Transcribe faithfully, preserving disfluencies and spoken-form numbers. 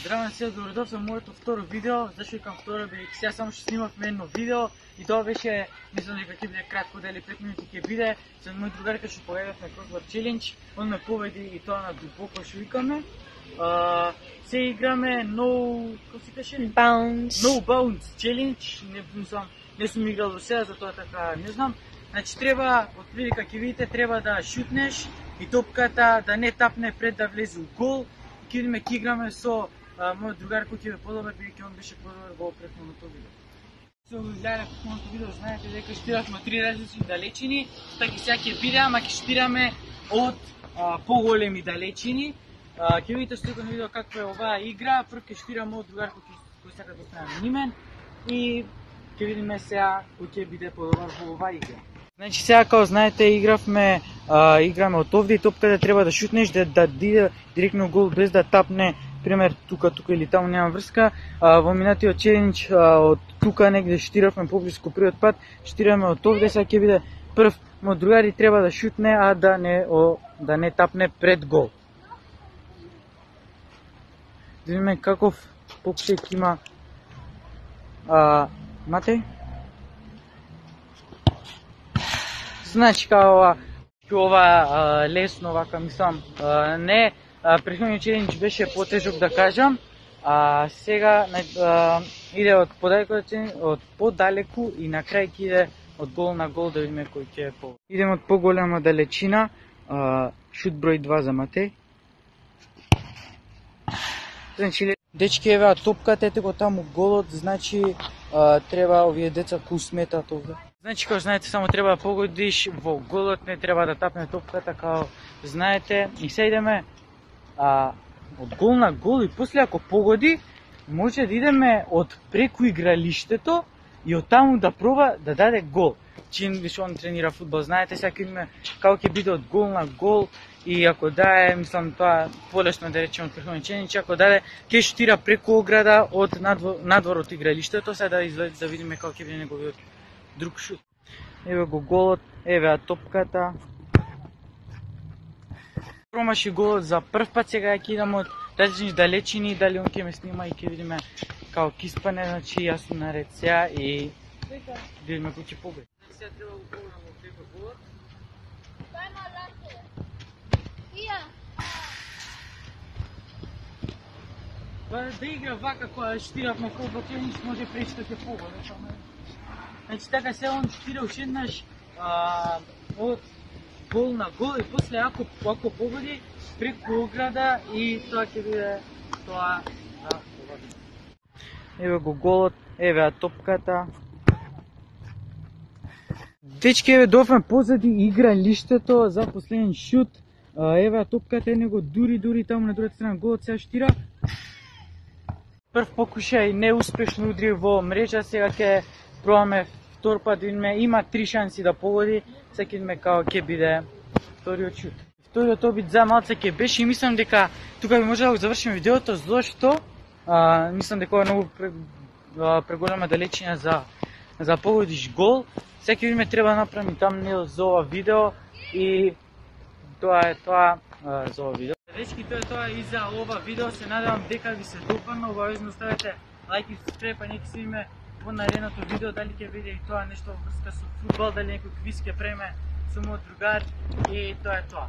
Здравен се, добродошли во моето второ видео. Зашто викам второ, бидејќи сега само што снимавме едно видео и тоа беше, мислам дека ќе биде кратко, дали пет минути ќе биде, со мој другарка што победивме Crossword Challenge. Он ме победи и тоа на дубоко што викаме. А, се играме No, како се каже? Bounce. No Bounce Challenge. Не мислам, не сум играл до сега, затоа така не знам. Значи треба, од прилика ќе видите, треба да шутнеш и топката да не тапне пред да влезе у гол. Ќе видиме ќе играме со а, мојот другар кој ќе ве подобар, бидејќи он беше подобар во претходното видео. Со гледале претходното видео, знаете дека штиравме три различни далечини, така сега ќе биде, ама ќе штираме од а, поголеми далечини. А, ќе видите слика на видео каква е оваа игра. Прв ќе штираме од другар кој, кој сака да остане нимен и ќе видиме сега кој ќе биде подобар во оваа игра. Значи сега, како знаете, игравме, а, играме од овде и топката треба да шутнеш, да, да иде директно гол без да тапне, пример, тука, тука или таму, нема врска. А, во минатиот челендж од тука негде штиравме поблиску првиот пат, штираме од овде, сега ќе биде прв мој другари треба да шутне, а да не, о, да не тапне пред гол. Да видиме каков покушај ќе има а, Матеј. Значи као ова, ова лесно, вака мислам, а, не, претходниот челендж беше потежок да кажам, а сега а, иде од подалеку, од подалеку и на крај ќе иде од гол на гол, да видиме кој ќе е по. Идеме од поголема далечина, а, шут број два за Матеј. Значи, дечки, еве топката, ете го таму голот, значи а, треба овие деца кои сметат овде. Значи, како знаете, само треба да погодиш во голот, не треба да тапне топката, како знаете. И се идеме а, од гол на гол и после ако погоди, може да идеме од преку игралиштето и од таму да проба да даде гол. Чин више он тренира фудбал, знаете, сега ќе видиме како ќе биде од гол на гол и ако даде, мислам тоа полесно да речеме од претходниот челендж, ако даде ќе штира преку ограда од надвор, надвор од игралиштето, сега да излезе да видиме како ќе биде неговиот друг шут. Еве го голот, еве топката. Промаши голот за прв пат, сега ќе идам од различни далечини, дали он ќе ме снима и ќе видиме како ќе испане, значи јас сум наред сега и видиме кој ќе победи. Сега треба да го пробам во преко голот. Па да игра вака која штиравме колко челендж, може пречка ќе погоди. Значи така се он штира уште еднаш од гол на гол и после ако ако погоди преку ограда и тоа ќе биде тоа да погоди. Еве го голот, еве топката. Дечки, еве дофме позади игралиштето за последен шут. Еве топката е него дури дури таму на другата страна голот сега штира. Прв покушај неуспешно удри во мрежа, сега ќе пробаме втор пат, видиме, има три шанси да погоди, сега ќе видиме како ќе биде вториот шут. Вториот обид за малце ќе беше и мислам дека тука би може да го завршиме видеото, зашто а, мислам дека ова е многу преголема далечина за за погодиш гол. Сега ќе видиме треба да направиме тамнел за ова видео и тоа е тоа а, за ова видео. Дечки, тоа е тоа и за ова видео, се надевам дека ви се допадна, обавезно ставете лайк и subscribe, а нека си видиме во наредното видео дали ќе биде и тоа нешто во врска со фудбал, дали некој квиз ќе преме со мојот другар и тоа е тоа.